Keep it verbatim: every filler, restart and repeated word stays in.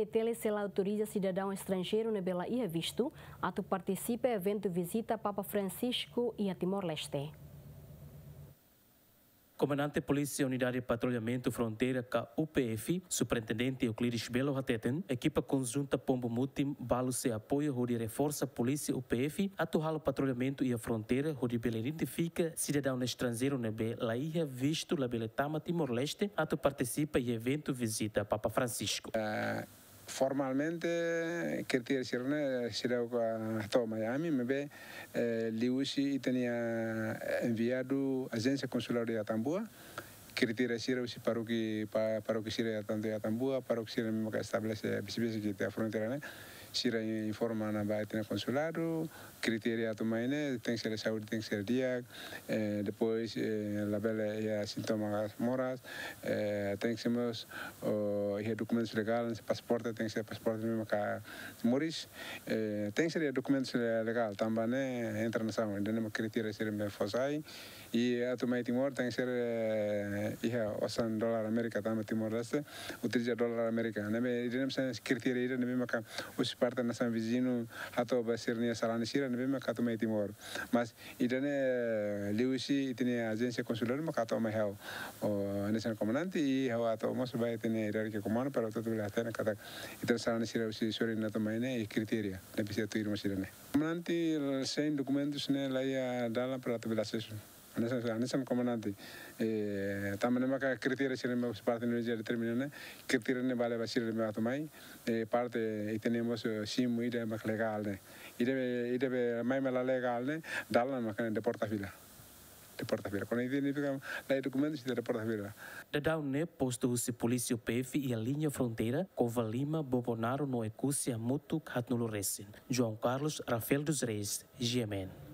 T L C la autoriza sidadaun estranjeiru ne'ebé la iha vistu atu partisipa eventu vizita Papa Francisco iha Timor-Leste. Komandante Polísia Unidade Patrullamentu Fronteira ka U P F, Superintendente Euclides Belo hateten, ekipa konjunta Pombo Mutim balu sei apoiu hodi reforsa Polísia U P F atu halo patrullamentu iha fronteira hodi bele identifika sidadaun estranjeiru ne'ebé la iha vistu labele tama Timor-Leste atu partisipa iha eventu vizita Papa Francisco. Formalmente, kritéria sira-ne'e seidauk hato'o mai ami, maibé, eh, liuhusi ita-nia enviadu Ajénsia Konsulár iha Atambua, kritéria sira husi parókia, pa-, parókia sira iha tantu iha Atambua, parókia sira ne'ebé maka estabelese besik-besik iha fronteira ne'e, sira informa ona ba ita-nia konsuladu, kritéria atu mai ne'e, tenke ser saúde, tenke ser di'ak, eh, depois, eh, labele iha sintoma moras, eh, tenke ser mós, oh, iha dokumentus legál, se pasaporte, tenke ser pasaporte ne'ebé maka moris, eh, tenke ser iha dokumentus le-, legál, tanba ne'e entra nasaun, ida-ne'e mak kritéria sira ne'ebé fó sai, i atu mai Timor, tenke ser, eh, iha osan dolar Amérika, tanba Timor-Leste utiliza dolar Amérika. Ne'ebé, ida-ne'e mak kritéria ida ne'ebé maka husi parte nasaun viziñu hato'o ba sira-nia sarani sira ne'ebé maka atu mai Timor. Mas ida-ne'e, eh, liuhusi ita-nia Ajénsia Konsulár maka hato'o mai ha'u, o, hanesan komandante, i ha'u hato'o mós ba ita-nia hierarkia komandu para atu bele hatene katak ita-nia sarani sira husi sorin ne'e atu mai ne'e, i kritéria ne'ebé presiza tuir mós ida-ne'e. Komandante, sein dokumentus ne'e la iha dalan para atu bele asesu. Hanesan, hanesan komandante, eh, tanba ne'e maka kritéria sira ne'ebé parte Indonézia determina ne'e, kritéria ne'e ba leva sira ne'ebé atu mai, eh, parte ita-nia mós, eh, simu ida mak legál ne'e. Ida be, ida be mai mak la legál ne'e, dalan maka deporta fila. Deporta fila. Kuandu ita-nia fika la iha dokumentus, ita deporta fila. Daudaun ne'e postu husi Polísia U P F iha liña fronteira, Covalima, Bobonaro no Oekusi hamutuk haatnulu resin. João Carlos, Rafael dos Reis, G M N.